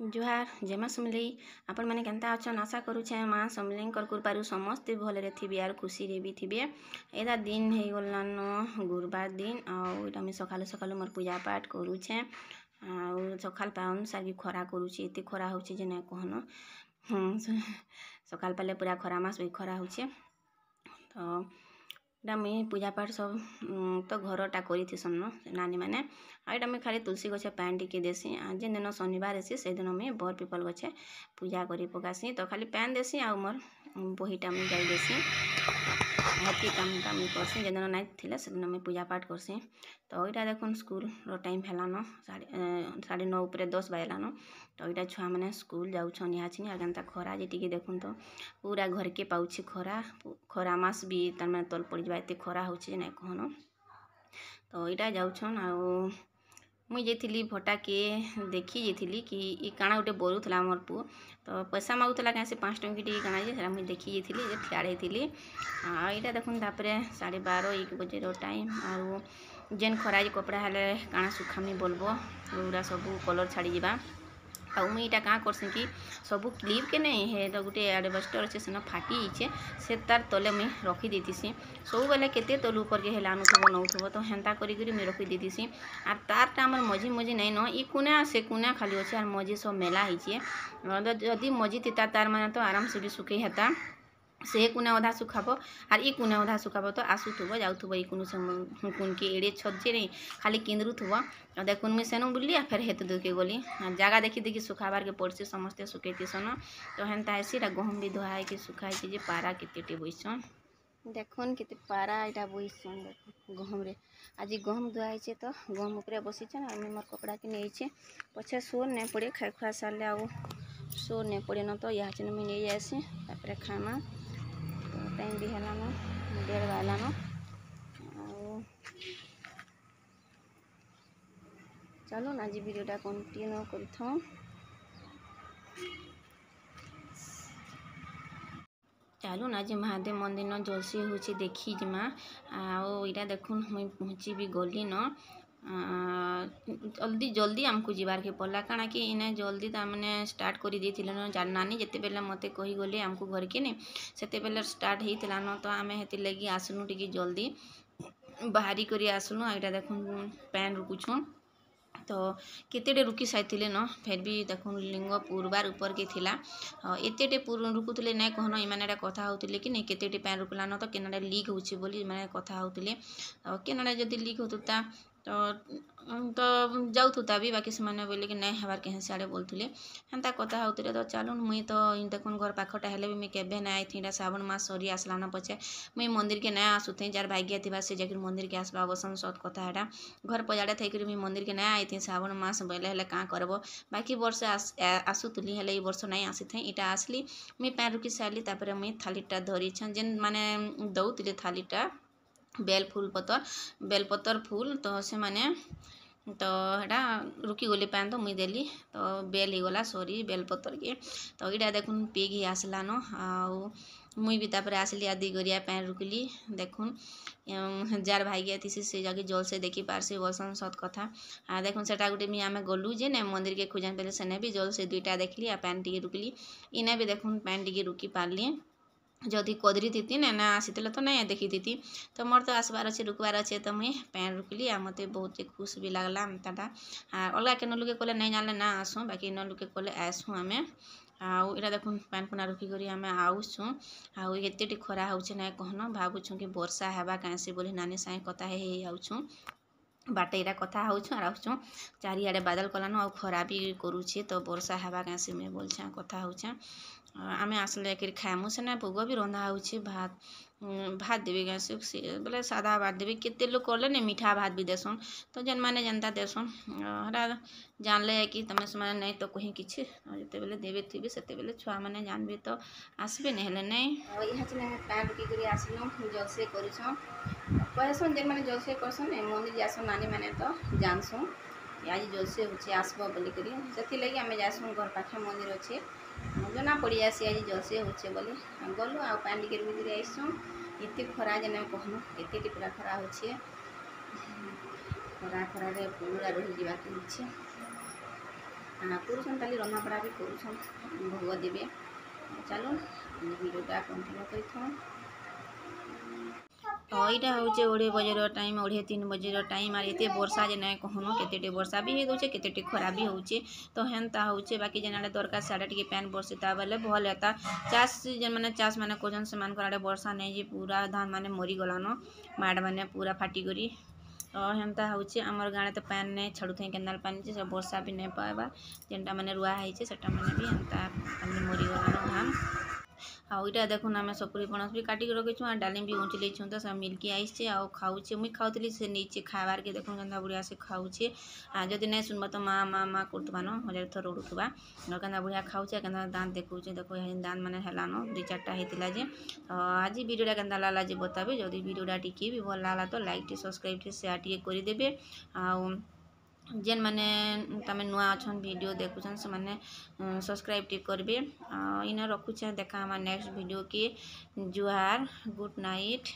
ଜୁହାର, ଜୟ ମା ସମଲେଇ। ଆପଣମାନେ କେନ୍ତା ଅଛନ୍? ଆଶା କରୁଛେଁ ମା ସମଲେଇଙ୍କର କୃପାରୁ ସମସ୍ତେ ଭଲରେ ଥିବେ ଆର୍ ଖୁସିରେ ବି ଥିବେ। ଏଇଟା ଦିନ ହେଇଗଲାନ ଗୁରୁବାର ଦିନ, ଆଉ ଏଇଟା ମୁଇଁ ସକାଳୁ ସକାଳୁ ମୋର୍ ପୂଜା ପାଠ କରୁଛେଁ। ଆଉ ସକାଳ ପାଉନ୍ ସାରିକି ଖରା କରୁଛି, ଏତେ ଖରା ହଉଛି ଯେ ନାଇଁ କହନ। ସକାଳ ପାଇଲେ ପୁରା ଖରା ମାସ ବି ଖରା ହଉଛେ। ତ ଏଇଟା ମୁଇଁ ପୂଜା ପାଠ ସବୁ ତ ଘରଟା କରିଥିସନ୍ ନାନୀମାନେ, ଆଉ ଏଇଟା ମୁଇଁ ଖାଲି ତୁଳସୀ ଗଛେ ପାଏନ୍ ଟିକେ ଦେସି। ଆଉ ଯେନ୍ ଦିନ ଶନିବାର ହେସି, ସେଦିନ ମୁଇଁ ବର୍ ପିପଲ୍ ଗଛେ ପୂଜା କରି ପକାସି। ତ ଖାଲି ପାଏନ୍ ଦେସି ଆଉ ମୋର୍ ବହିଟା ମୁଇଁ ଗାଇ ଦେସି, ହେତ୍କି କାମଟା ମୁଇଁ କର୍ସି। ଯେନ୍ ଦିନ ନାଇଁ ଥିଲେ, ସେଦିନ ମୁଇଁ ପୂଜା ପାଠ କର୍ସି। ତ ଏଇଟା ଦେଖୁନ୍, ସ୍କୁଲ୍ର ଟାଇମ୍ ହେଲାନ, 9:30 ଉପରେ 10 ବାଜିଲାନ। ତ ଏଇଟା ଛୁଆମାନେ ସ୍କୁଲ୍ ଯାଉଛନ୍ ଇହାଚିନି। ଆଉ କେନ୍ତା ଖରା ଯେ ଟିକେ ଦେଖୁନ୍ ତ, ପୁରା ଘରକେ ପାଉଛି ଖରା। ଖରା ମାସ ବି ତାର୍ମାନେ ତଲ୍ ପଡ଼ିଯିବା, ଏତେ ଖରା ହଉଛି ଯେ ନାଇଁ କହନ। ତ ଏଇଟା ଯାଉଛନ୍। ଆଉ ମୁଇଁ ଯାଇଥିଲି ଭଟାକେ, ଦେଖି ଯାଇଥିଲି କି ଇ କାଣା ଗୋଟେ ବରୁଥିଲା। ଆମର୍ ପୁଅ ତ ପଇସା ମାଗୁଥିଲା କାଁ ସେ 5 ଟଙ୍କି ଟିକେ କାଣା ଯେ, ସେଟା ମୁଇଁ ଦେଖି ଯାଇଥିଲି ଯେ ଠିଆ ହେଇଥିଲି। ଆଉ ଏଇଟା ଦେଖୁନ୍, ତାପରେ 12:30 1 ବଜେର ଟାଇମ୍। ଆଉ ଯେନ୍ ଖରା ଯେ କପଡ଼ା ହେଲେ କାଣା ଶୁଖାମି ବୋଲବ, ପୁରା ସବୁ କଲର୍ ଛାଡ଼ିଯିବା। ଆଉ ମୁଇଁ ଇଟା କାଁ କର୍ସି କି ସବୁ କ୍ଲିପ୍କେ ନେଇ ହେ ତ ଗୋଟେ ଆଡ଼ବେଷ୍ଟର ଅଛେ, ସେନ ଫାଟି ଯାଇଛେ, ସେ ତାର୍ ତଲେ ମୁଇଁ ରଖିଦେଇଥିସି ସବୁବେଲେ। କେତେ ତଲୁ ଉପରକେ ହେଲେ ଆନୁଥିବ ନଉଥିବ, ତ ହେନ୍ତା କରିକିରି ମୁଇଁ ରଖିଦେଇଥିସି। ଆର୍ ତାର୍ଟା ଆମର୍ ମଝି ମଝି ନାଇଁନ, ଇ କୁନା ସେ କୁନା ଖାଲି ଅଛେ, ଆର୍ ମଝି ସବୁ ମେଲା ହେଇଛେ। ଯଦି ମଝି ଥିତା ତାର୍ ମାନେ ତ ଆରାମସେ ବି ଶୁଖେଇ ହେତା। ସେ କୁନା ଅଧା ଶୁଖାବ ଆର୍ ଇ କୁନା ଅଧା ଶୁଖାବ, ତ ଆସୁଥିବ ଯାଉଥିବ ଇ କୁନୁ ସେ କୁନକେ। ଏଡ଼େ ଛତ୍ ଯେ ନାଇଁ ଖାଲି କିନ୍ଦରୁଥିବ। ଦେଖୁନ୍, ମୁଇଁ ସେନୁ ବୁଲି ଆଉ ଫେର୍ ହେତେ ଦୂରକେ ଗଲି। ଜାଗା ଦେଖି ଦେଖି ଶୁଖାବାର୍କେ ପଡ଼୍ସି, ସମସ୍ତେ ଶୁଖେଇଥିସନ୍, ତ ହେନ୍ତା ହେସି। ଏଇଟା ଗହମ ବି ଧୁଆ ହେଇକି ଶୁଖା ହେଇଛି ଯେ ପାରା କେତେଟେ ବଇସନ୍। ଦେଖୁନ୍, କେତେ ପାରା ଏଇଟା ବଇସନ୍ ଦେଖୁନ୍ ଗହମରେ। ଆଜି ଗହମ ଧୁଆ ହେଇଛେ ତ ଗହମ ଉପରେ ବସିଛନ୍। ଆଉ ମୁଇଁ ମୋର୍ କପଡ଼ାକେ ନେଇଛେ, ପଛେ ସୋର୍ ନାଇଁ ପଡ଼େ। ଖାଇ ଖୁଆ ସାରିଲେ ଆଉ ସୋର୍ ନାଇଁ ପଡ଼େନ, ତ ଇହାଚିନ ମୁଇଁ ନେଇ ଯାଏସି, ତାପରେ ଖାଏମା। ତ ଟାଇମ୍ ବି ହେଲାନ, 1:30 ବାଜିଲାନ। ଆଉ ଚାଲୁନ୍, ଆଜି ଭିଡ଼ିଓଟା କଣ୍ଟିନ୍ୟୁ କରିଥାଉଁ। ଚାଲୁନ୍, ଆଜି ମହାଦେବ ମନ୍ଦିର ଜଲସି ହଉଛି, ଦେଖି ଯିମା। ଆଉ ଏଇଟା ଦେଖୁନ୍, ମୁଇଁ ପହଞ୍ଚି ବି ଗଲିନ। ଜଲ୍ଦି ଜଲ୍ଦି ଆମକୁ ଯିବାର୍କେ ପଡ଼ଲା, କାଣା କି ଇନେ ଜଲ୍ଦି ତାମାନେ ଷ୍ଟାର୍ଟ କରି ଦେଇଥିଲେ। ନାନୀ ଯେତେବେଲେ ମୋତେ କହିଗଲେ ଆମକୁ ଘରକେ ନି, ସେତେବେଲେ ଷ୍ଟାର୍ଟ ହେଇଥିଲାନ। ତ ଆମେ ହେଥିର୍ଲାଗି ଆସିଲୁ, ଟିକେ ଜଲ୍ଦି ବାହାରି କରି ଆସିଲୁ। ଆଉ ଏଇଟା ଦେଖୁନ୍, ପାଏନ୍ ରୁକୁଛୁଁ। ତ କେତେଟେ ରୁକି ସାରିଥିଲେ ନ, ଫେର୍ ବି ଦେଖୁନ୍, ଲିଙ୍ଗ ପୁରବାର ଉପରକେ ଥିଲା। ଏତେଟେ ରୁକୁଥିଲେ ନାଇଁ କହନ। ଏମାନେ ଏଇଟା କଥା ହଉଥିଲେ କି ନାଇଁ, କେତେଟେ ପାଏନ୍ ରୁକଲାନ ତ କେନାଟା ଲିକ୍ ହଉଛି ବୋଲି ଏମାନେ କଥା ହଉଥିଲେ। ଆଉ କେନାଟା ଯଦି ଲିକ୍ ହଉଥିଲା ତ ଯାଉଥୁତା ବି, ବାକି ସେମାନେ ବୋଇଲେ କି ନାଇଁ ହେବାର୍ କେହେଁ ସିଆଡ଼େ ବୋଲୁଥିଲେ, ହେନ୍ତା କଥା ହଉଥିଲେ। ତ ଚାଲୁନ୍, ମୁଇଁ ତ ଦେଖୁନ୍, ଘର ପାଖଟା ହେଲେ ବି ମୁଇଁ କେବେ ନାଇଁ ଆଇଥି। ଏଇଟା ଶ୍ରାବଣ ମାସ ସରି ଆସିଲାନ ପଛେ ମୁଇଁ ମନ୍ଦିରକେ ନାଇଁ ଆସୁଥେଁ। ଯାର୍ ଭାଗ୍ୟ ଥିବା ସେ ଯାଇକିରି ମନ୍ଦିରକେ ଆସବା ବସନ୍, ସତ୍ କଥା ହେଟା। ଘର ପଜାଡ଼େ ଥାଇକରି ମୁଇଁ ମନ୍ଦିରକେ ନାଇଁ ଆଇଥି ଶ୍ରାବଣ ମାସ ବୋଇଲେ। ହେଲେ କାଁ କରବ, ବାକି ବର୍ଷ ଆସୁଥିଲି, ହେଲେ ଏଇ ବର୍ଷ ନାଇଁ ଆସିଥେଁ। ଇଟା ଆସିଲି, ମୁଇଁ ପାଏନ୍ ରୁକି ସାରିଲି, ତାପରେ ମୁଇଁ ଥାଲିଟା ଧରିଛନ୍। ଯେନ୍ ମାନେ ଦଉଥିଲେ ଥାଲିଟା, ବେଲ୍ ଫୁଲ୍ ପତର୍, ବେଲ୍ ପତର୍ ଫୁଲ୍, ତ ସେମାନେ ତ ହେଟା ରୁକିଗଲେ ପାଏନ୍, ତ ମୁଇଁ ଦେଲି, ତ ବେଲ୍ ହେଇଗଲା ସରି ବେଲ୍ ପତର୍କେ। ତ ଏଇଟା ଦେଖୁନ୍, ପେଗ୍ ହେଇ ଆସିଲାନ। ଆଉ ମୁଇଁ ବି ତାପରେ ଆସିଲି ଆଉ 2 ଗରିଆ ପାଏନ୍ ରୁକିଲି। ଦେଖୁନ୍, ଯାର୍ ଭାଗ୍ୟ ଥିସି ସେ ଯାଇକି ଜଲ୍ସେ ଦେଖି ପାର୍ସି ବଲ୍ସନ୍, ସତ୍ କଥା। ଆଉ ଦେଖୁନ୍, ସେଟା ଗୋଟେ ମୁଇଁ ଆମେ ଗଲୁ ଯେ ନାଇଁ ମନ୍ଦିରକେ ଖୁଜାନ୍ ବେଲେ, ସେନେ ବି ଜଲ୍ସେ ଦୁଇଟା ଦେଖିଲି ଆଉ ପାଏନ୍ ଟିକେ ରୁକିଲି। ଇନେ ବି ଦେଖୁନ୍, ପାଏନ୍ ଟିକେ ରୁକି ପାର୍ଲି। ଯଦି କଦରୀ ଥିତି ନା ନା ଆସିଥିଲେ ତ ନାଇଁ ଦେଖିଥିତି। ତ ମୋର୍ ତ ଆସବାର ଅଛେ, ରୁକବାର ଅଛେ, ତ ମୁଇଁ ପାଏନ୍ ରୁକିଲି ଆଉ ମତେ ବହୁତ ଖୁସ୍ ବି ଲାଗ୍ଲା ଏନ୍ତାଟା। ଆର୍ ଅଲଗା କେନ ଲୁକେ କଲେ ନାଇଁ ଜାଣିଲେ ନା ଆସୁଁ, ବାକି ଇନ ଲୁକେ କଲେ ଆଏସୁଁ ଆମେ। ଆଉ ଏଇଟା ଦେଖୁନ୍, ପାଏନ୍ ପୁନା ରୁକିକରି ଆମେ ଆଉଛୁଁ। ଆଉ ଏତେଟି ଖରା ହଉଛେ ନାଇଁ କହନ, ଭାବୁଛୁଁ କି ବର୍ଷା ହେବା କାଏଁସି ବୋଲି ନାନୀ ସାଙ୍ଗେ କଥା ହେଇ ହେଇ ଆଉଛୁଁ। ବାଟେ ଏଇଟା କଥା ହଉଛୁଁ ଆର୍ ଆସୁଛୁଁ। ଚାରିଆଡ଼େ ବାଦଲ କଲାନ ଆଉ ଖରା ବି କରୁଛେ, ତ ବର୍ଷା ହେବା କାଏଁସି ମୁଇଁ ବୋଲଛେଁ, କଥା ହଉଛେଁ। ଆମେ ଆସିଲେ ଯାଇକିରି ଖାଏମୁ। ସେନେ ଭୋଗ ବି ରନ୍ଧା ହଉଛେ, ଭାତ ଭାତ ଦେବେ କାଏଁସି ବେଲେ ସାଦା ଭାତ ଦେବେ। କେତେ ଲୋକ୍ କଲେ ନି ମିଠା ଭାତ ବି ଦେସନ୍। ତ ଯେନ୍ମାନେ ଯେନ୍ତା ଦେସନ୍ ହେଟା ଜାନ୍ଲେ କି ତମେ ସେମାନେ ନାଇଁ ତ କହି କିଛି। ଯେତେବେଲେ ଦେବେ ଥିବେ, ସେତେବେଲେ ଛୁଆମାନେ ଜାନ୍ବେ ତ ଆସ୍ବେ, ନାଇଁ ହେଲେ ନାଇଁ। ଆଉ ଇହାଚିନେ ଆମେ ପାଏନ୍ ରୁକିକରି ଆସିଲୁ, ଜଲସେ କରୁଛନ୍। କହେସନ୍, ଯେନ୍ମାନେ ଜଲସେ କରସନ୍, ମନ୍ଦିର ଯାଏସନ୍ ନାନୀମାନେ, ତ ଜାନ୍ସୁଁ ଆଜି ଜଲସେ ହଉଛେ, ଆସ୍ବ ବୋଲିକରି। ସେଥିର୍ଲାଗି ଆମେ ଯାଏସୁଁ, ଘର ପାଖେ ମନ୍ଦିର ଅଛେ, ଜନା ପଡ଼ିଯାଏସି ଆଜି ଜଲସେ ହଉଛେ ବୋଲି। ଗଲୁ ଆଉ ପାଏନ୍ ଟିକେ ରୁକିକରି ଆଇସୁଁ। ଏତେ ଖରା ଯେ ନାଇଁ କହନ, ଏତେ ପୁରା ଖରା ହଉଛେ, ଖରା ଖରାରେ ପୁରା ରହିଯିବାକେ ହଉଛେ। କରୁଛନ୍, ଖାଲି ରନ୍ଧାବଢ଼ା ବି କରୁଛନ୍, ଭୋଗ ଦେବେ। ଚାଲୁନ୍, ଭିଡ଼ିଓଟା କଣ୍ଟିନ୍ୟୁ କରିଥାଉନ୍। ତ ଏଇଟା ହଉଛେ 2.5 ବଜେର ଟାଇମ୍, 2.5 3 ବଜେର ଟାଇମ୍। ଆର୍ ଏତେ ବର୍ଷା ଯେ ନାଇଁ କହନ, କେତେ ବର୍ଷା ବି ହେଇଦଉଛେ, କେତେ ଖରା ବି ହଉଛେ, ତ ହେନ୍ତା ହଉଛେ। ବାକି ଯେନ୍ ଆଡ଼େ ଦରକାର ସିଆଡ଼େ ଟିକେ ପାଏନ୍ ବର୍ଷିତା ବେଲେ ଭଲ୍ ହେତା। ଚାଷ୍ ଯେନ୍ମାନେ ଚାଷ୍ ମାନେ କରୁଛନ୍, ସେମାନଙ୍କର ଆଡ଼େ ବର୍ଷା ନାଇଁ ଯେ ପୁରା ଧାନ୍ ମାନେ ମରିଗଲାନ, ମାଡ଼ ମାନେ ପୁରା ଫାଟିକରି। ତ ହେନ୍ତା ହଉଛେ। ଆମର୍ ଗାଁରେ ତ ପାଏନ୍ ନାଇଁ ଛାଡ଼ୁଥାଇ କେନାଲ୍ ପାନି ଯେ, ସେ ବର୍ଷା ବି ନାଇଁ ପାଏବା। ଯେନ୍ଟା ମାନେ ରୁଆ ହେଇଛେ, ସେଟା ମାନେ ବି ହେନ୍ତା ତାମାନେ ମରିଗଲାନ ଧାନ୍। ଆଉ ଇଟା ଦେଖୁନ୍, ଆମେ ସପୁରୀ ପଣସ ବି କାଟିକି ରଖିଛୁଁ ଆର୍ ଡାଲିମ୍ ବି ଉଁଚଲେଇଛୁଁ। ତ ସେ ମିଲ୍କି ଆଇସଛେ ଆଉ ଖାଉଛେ। ମୁଇଁ ଖାଉଥିଲି, ସେ ନେଇଛେ ଖାଇବାର୍କେ। ଦେଖୁନ୍ କେନ୍ତା ବଢ଼ିଆ ସେ ଖାଉଛେ। ଆଉ ଯଦି ନାଇଁ ଶୁନବ ତ ମା ମା ମା କରୁଥିବା ନ, ହଜାରେ ଥର ରଡ଼ୁଥିବା। ଆଉ କେନ୍ତା ବଢ଼ିଆ ଖାଉଛେ, କେନ୍ତା ଦାନ୍ତ ଦେଖଉଛେ ଦେଖ। ଦାନ୍ତ ମାନେ ହେଲାନ, ଦୁଇ ଚାରିଟା ହେଇଥିଲା ଯେ। ତ ଆଜି ଭିଡ଼ିଓଟା କେନ୍ତା ଲାଗଲା ଯେ ବତାବେ। ଯଦି ଭିଡ଼ିଓଟା ଟିକେ ବି ଭଲ୍ ଲାଗଲା ତ ଲାଇକ୍ ଟେ, ସବସ୍କ୍ରାଇବ୍ ଟେ, ସେୟାର ଟିକେ କରିଦେବେ। ଆଉ ଯେନ୍ମାନେ ତମେ ନୂଆ ଅଛନ୍, ଭିଡ଼ିଓ ଦେଖୁଛନ୍, ସେମାନେ ସବସ୍କ୍ରାଇବ୍ ଟିକେ କରିବେ। ଆଉ ଇନେ ରଖୁଛେଁ, ଦେଖା ହେମା ନେକ୍ସଟ ଭିଡ଼ିଓ କେ। ଜୁହାର, ଗୁଡ୍ ନାଇଟ୍।